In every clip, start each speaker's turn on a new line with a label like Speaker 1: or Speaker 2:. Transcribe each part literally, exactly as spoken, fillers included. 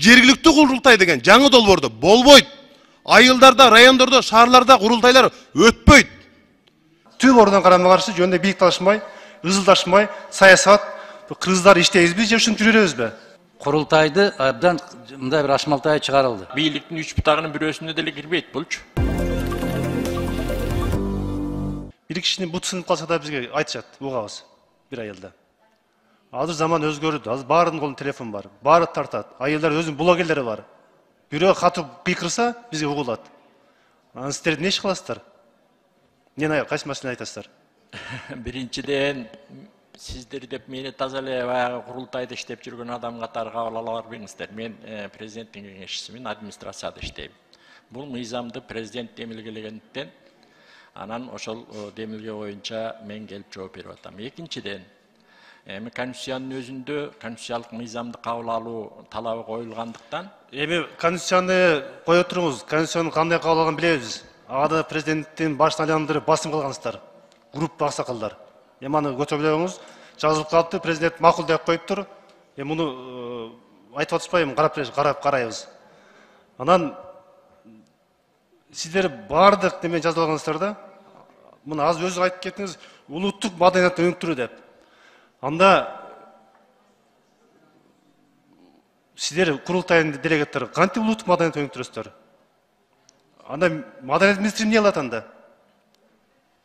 Speaker 1: жергиликтүү курултай деген жаңы долбоордо болбойт. Айылдарда, райондордо, шаарларда курултайлар өтпөйт.
Speaker 2: Түп ордон карама-каршы жөнүндө бийлик талашмай, ызылдашмай, саясат, кыргыздар иштейбизби же ушинтип жүрөбүзбү?
Speaker 3: Курултайды абдан мындай бир ашмалтай чыгарылды.
Speaker 4: Бийликтин үч бутагынын бирөөсүнө деле кирбейт булчу.
Speaker 2: Бир кишинин бут сынып калса да бизге айтышат, угабыз бир айылда. Азыр заман өзгөрдү. Азыр баарынын колунда телефон бар. Баары тартат. Айылдар өзүнүн блогерлери бар. Бирөө катып кыйкырса, бизге угулат. Анан сиздер эмне иш кыласыздар? Эмне кайсы маселени айтасыздар?
Speaker 4: Биринчиден сиздер деп мени таза эле баягы курултайда иштеп жүргөн адам катары кабыл ала барбаңыздар. Мен президенттин кеңешчисимин, администрацияда иштейм. Бул мыйзамды президент демилгелегендиктен анан ошол демилге боюнча мен келип жооп берип атам. Экинчиден, эми конституциянын өзүндө конституциялык мыйзамды кабыл алуу талабы коюлгандыктан,
Speaker 2: эми конституцияны кое туруңуз, конституцияны кандай кабыл алганын билебиз. Ага президенттин башын айландырып басым кылгансыздар. Группа аксакалдар. Эми аны көтөрүп элеңиз. Жазылып калыпты, президент макул деп коюптур. Эми муну айтып атышпайбы, карап карап карайбыз. Анан сиздер баардык неме жазып алгансыздар да. Муну азыр өзү айтып кеттиңиз, улуттук маданиятты өнүктүрүү деп. Анда сиздер курултайдын делегаттары кантип улуттук маданиятты өнүктүрөсүздөр? Анда маданият министри эмне кылат анда?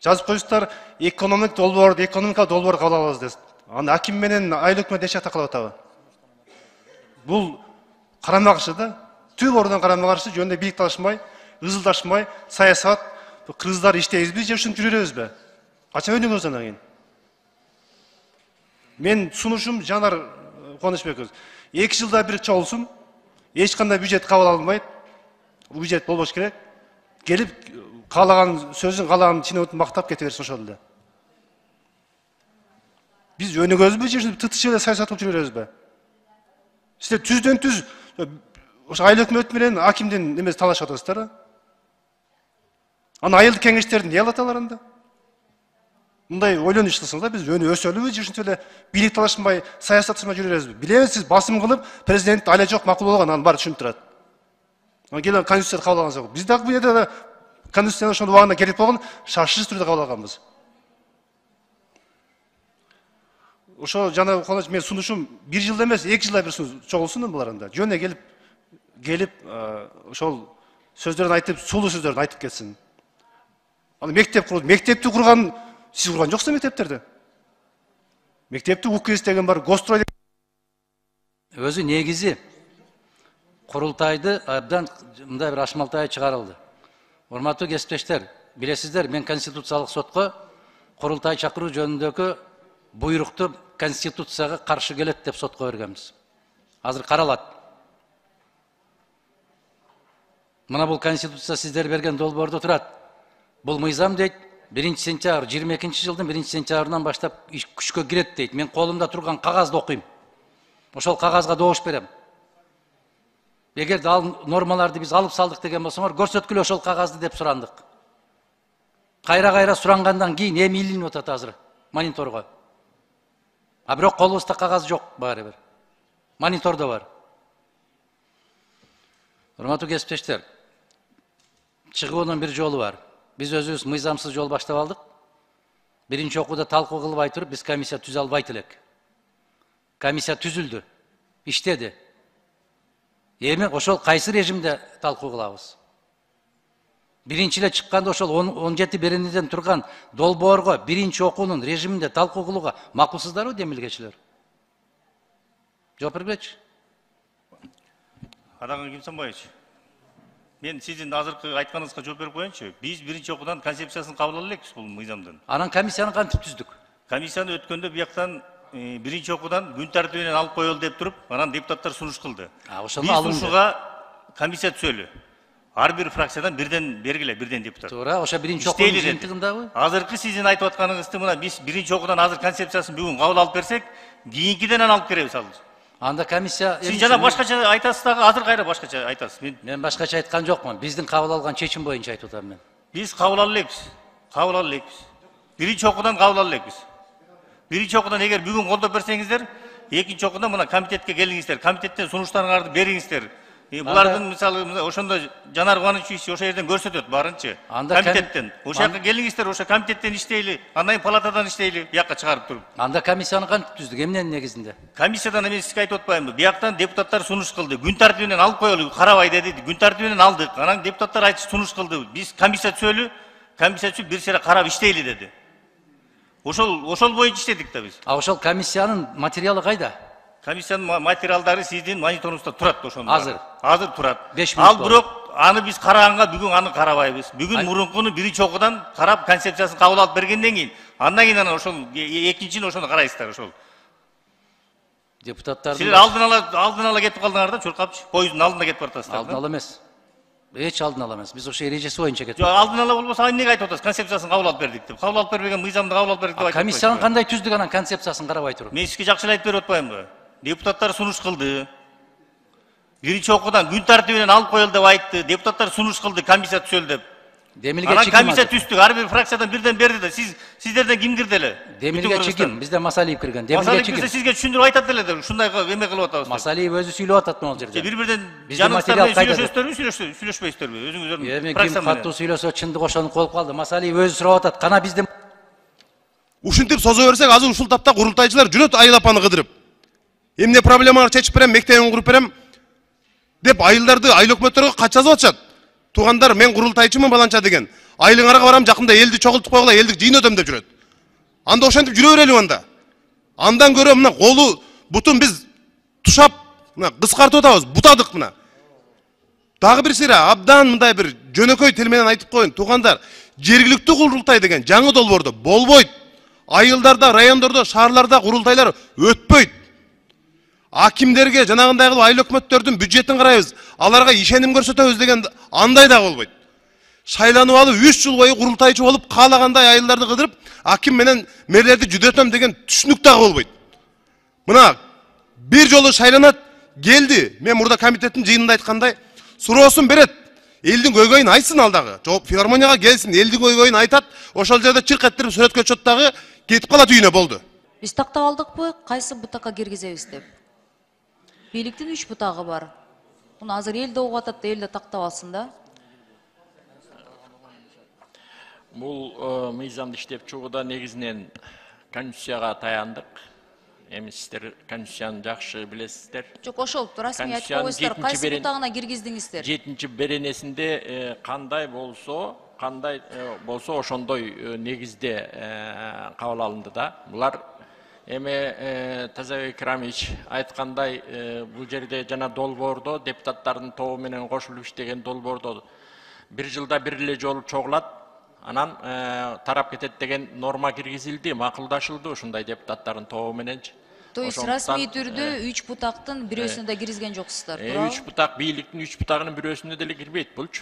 Speaker 2: Жазып коюшсуздар, экономик долбоор, экономика долбоор кабыл алабыз дейсиз. Аны аким менен айыл өкмөт эч жакта кылып атабы? Бул карама-каршы да. Түп ордон карама-каршы жөнүндө бийлик талашмай, ызылдашмай, саясат, кыргыздар иштейбизби же ушинтип жүрөбүзбү? Качан өнүгөбүз анан кийин? Мен сунушум Жанар Кубанычбеков. эки жылда бир чогулсун, эч кандай бюджет кабыл алынбайт. Бул бюджет болбош керек. Келип каалаган сөзүн, каалаган чиновниктин мактап кете берсин ошол эле. Биз өнүгөбүзбү же ушинтип тытыш эле саясат кылып жүрө беребизби? Сиздер түздөн түз ошо айыл өкмөт менен акимдин немеси талашып атасыздар. Аны айылдык кеңештерди эмне кылат алар анда? Мындай ойлонуш кылсаңыз да, биз өнү өсөлүбү же ушинтип эле бийлик талашмай, саясат тышмай жүрө беребизби? Билебиз, сиз басым кылып, президент айла жок макул болгон, анын баары түшүнүп турат. Анан келип конституция кабыл алган жок. Биз дагы бул жерде конституцияны ошол убагында керек болгон шашырсыз түрдө кабыл алганбыз. Ошо жана колоч мен сунушум бир жылда эмес, эки жылда бир чогулсун булар анда. Жөнүнө келип келип ошол сөздөрүн айтып, сулуу сөздөрүн айтып кетсин. Аны мектеп курду. Мектепти курган сиз курган жоксуз мектептерди. Мектепти УКС деген бар, Гострой.
Speaker 3: Өзү негизи курултайды абдан мындай бир ашмалтай чыгарылды. Урматтуу кесиптештер, билесиздер, мен Конституциялык сотко курултай чакыруу жөнүндөгү буйрукту Конституцияга каршы келет деп сотко бергенбиз. Азыр каралат. Мына бул Конституция сиздер берген долбоордо турат. Бул мыйзам дейт, биринчи сентябрь жыйырма экинчи жылдын биринчи сентябрынан баштап күчкө кирет дейт. Мен колумда турган кагазды окуйм. Ошол кагазга добуш берем. Эгерде ал нормаларды биз алып салдык деген болсоңор, көрсөткүлө ошол кагазды деп сурандык. Кайра-кайра сурангандан кийин эми илинип атат азыр мониторго. А бирок колубузда кагаз жок баары бир. Монитордо бар. Урматтуу кесиптештер, чыгуунун бир жолу бар. Биз өзүбүз мыйзамсыз жол баштап алдык. Биринчи окууда талкуу кылбай туруп, биз комиссия түзө албайт элек. Комиссия түзүлдү, иштеди. Эми ошол кайсы режимде талкуу кылабыз? Биринчи эле чыкканда ошол он жети беренеден турган долбоорго биринчи окуунун режиминде талкуу кылууга макулсуздарбы демилгечилер? Жооп бергилечи.
Speaker 5: Адаган Кимсанбаевич, мен сиздин азыркы айтканыңызга жооп берип коеюнчу. Биз биринчи окуудан концепциясын кабыл ала элекпиз бул мыйзамдын.
Speaker 3: Анан комиссияны кантип түздүк?
Speaker 5: Комиссияны өткөндө бияктан биринчи окуудан күн тартибинен алып коелу деп туруп, анан депутаттар сунуш кылды.
Speaker 3: Ошону
Speaker 5: алынды. Биз сунушуга комиссия түзөлү. Ар бир фракциядан бирден бергиле, бирден депутат.
Speaker 3: Туура, ошо биринчи окуунун жыйынтыгындабы?
Speaker 5: Азыркы сиздин айтып атканыңызды мына биз биринчи окуудан азыр концепциясын бүгүн кабыл алып берсек, кийинкиден алып беребиз ал.
Speaker 3: Анда комиссия
Speaker 5: Сиз жана башкача айтасыз дагы, азыр кайра башкача айтасыз. Мен
Speaker 3: Мен башкача айткан жокмун. Биздин кабыл алган чечим боюнча айтып атам мен.
Speaker 5: Биз кабыл ала элекпиз. Кабыл ала элекпиз. Биринчи окуудан кабыл ала элекпиз. Биринчи окуудан эгер бүгүн колдоп берсеңиздер, экинчи окуудан мына комитетке келиңиздер, комитеттен сунуштарыңарды бериңиздер. Булардын мисалы ошондо Жанар Кубанович ошол жерден көрсөтөт баарынчы. Комитеттен. Ошол жака келиңиздер, ошо комитеттен иштейли, андан палатадан иштейли, бияка чыгарып туруп.
Speaker 3: Анда комиссияны кантип түздүк, эмненин негизинде?
Speaker 5: Комиссиядан эми сизге айтып атпаймынбы? Бияктан депутаттар сунуш кылды. Күн тартибинен алып коелу, карабай деди. Күн тартибинен алдык. Анан депутаттар айтты сунуш кылды. Биз комиссия түзөлү, комиссия түзүп бир сыйра карап иштейли деди. Ошол ошол боюнча иштедик да биз.
Speaker 3: А ошол комиссиянын материалы кайда?
Speaker 5: Комиссиянын материалдары сиздин мониторуңузда турат ошондо.
Speaker 3: Азыр.
Speaker 5: Азыр турат.
Speaker 3: беш мүнөт
Speaker 5: Ал
Speaker 3: болду.
Speaker 5: бирок аны биз караганга бүгүн аны карабайбыз. Бүгүн мурункуну биринчи окуудан карап концепциясын кабыл алып бергенден кийин андан кийин анан ошол экинчини ошону карайсыздар ошол.
Speaker 3: Депутаттардын
Speaker 5: Силер алдын ала алдын ала кетип калдыңар да, чуркапчы. Поезддун алдында кетип баратасыздар.
Speaker 3: алдын ала эмес. Эч алдын ала эмес. Биз ошо эрежеси боюнча
Speaker 5: Жок,
Speaker 3: кеттик.
Speaker 5: алдын ала болбосо аны эмнеге айтып атасыз? Концепциясын кабыл алып бердик деп. Кабыл алып бербеген мыйзамды кабыл алып бердик деп айтып атпайсызбы?
Speaker 3: Комиссияны кандай түздүк анан концепциясын карабай туруп?
Speaker 5: Мен сизге жакшы эле айтып берип атпаймынбы? Депутаттар сунуш кылды. Биринчи окуудан күн тартибинен алып коелу деп айтты. Депутаттар сунуш кылды, комиссия түзөлдү деп.
Speaker 3: Демилге
Speaker 5: Анан
Speaker 3: чигим.
Speaker 5: комиссия түздүк. Ар бир фракциядан бирден берди да. Сиз сиздерден ким кирди эле?
Speaker 3: Демилге чигим. Бизде Масалиев кирген. Демилге
Speaker 5: Масалиев
Speaker 3: чигим.
Speaker 5: кирсе сизге түшүндүрүп айтат эле да. Ушундай эме кылып атабыз деп.
Speaker 3: Масалиев өзү сүйлөп атат могул жерде.
Speaker 5: Бири бирден
Speaker 3: Бизде
Speaker 5: жаныңыздар
Speaker 3: материал
Speaker 5: менен
Speaker 3: кайда?
Speaker 5: сүйлөшөсүздөрбү, сүйлөшпөйсүздөрбү? Өзүңүздөрдүн
Speaker 3: Эми ким
Speaker 5: фракция менен.
Speaker 3: каттуу сүйлөсө чындык ошону коюп калды. Масалиев өзү сурап атат. Кана бизде
Speaker 1: Ушинтип созо берсек азыр ушул тапта курултайчылар жүрөт Айыл апаны кыдырып. Эмне проблемалар чечип берем, мектебин куруп берем деп айылдарды айыл өкмөттөргө кат жазып атышат. Туугандар, мен курултайчымын баланча деген. Айылыңарга барам, жакында элди чогултуп койгула, элдик жыйын өтөм деп жүрөт. Анда ошентип жүрө берели анда. Андан көрө мына колу бутун биз тушап, мына кыскартып атабыз, бутадык мына. Дагы бир сыйра абдан мындай бир жөнөкөй тил менен айтып коеюн, туугандар, жергиликтүү курултай деген жаңы долбоордо болбойт. Айылдарда, райондордо, шаарларда курултайлар өтпөйт. Акимдерге жанагындай кылып айыл өкмөттөрдүн бюджетин карайбыз, аларга ишеним көрсөтөбүз деген андай да болбойт. Шайланып алып үч жыл бою курултайчы болуп каалагандай айылдарды кыдырып, аким менен мэрлерди жүдөтөм деген түшүнүк дагы болбойт. Мына бир жолу шайланат, келди. Мен мурда комитеттин жыйынында айткандай, суроосун берет. Элдин көйгөйүн айтсын алдагы. Жооп филармонияга келсин, элдин көйгөйүн айтат. Ошол жерде чырк эттирип сүрөткө чөт дагы кетип калат үйүнө болду.
Speaker 6: Биз тактап алдыкпы, кайсы бутакка киргизебиз деп. Бийликтин үч бутагы бар. Муну азыр элде угуп атат да, элде тактап алсын да.
Speaker 4: Бул мыйзамды иштеп чыгууда негизинен конституцияга таяндык. Эми сиздер конституцияны жакшы билесиздер.
Speaker 6: Жок, ошол расмий айтып койсуздар, кайсы бутагына киргиздиңиздер?
Speaker 4: жетинчи беренесинде кандай болсо, кандай болсо ошондой негизде кабыл алынды да. Булар эми Тазабек Рамич айткандай, бул жерде жана долбоордо депутаттардын тобу менен кошулуп иштеген долбоордо бир жылда бир эле жолу чогулат, анан тарап кетет деген норма киргизилди, макулдашылды ушундай депутаттардын тобу мененчи.
Speaker 6: То есть расмий түрдө үч бутактын бирөөсүнө да киргизген жоксуздар, туурабы?
Speaker 4: үч бутак, бийликтин үч бутагынын бирөөсүнө деле кирбейт булчу.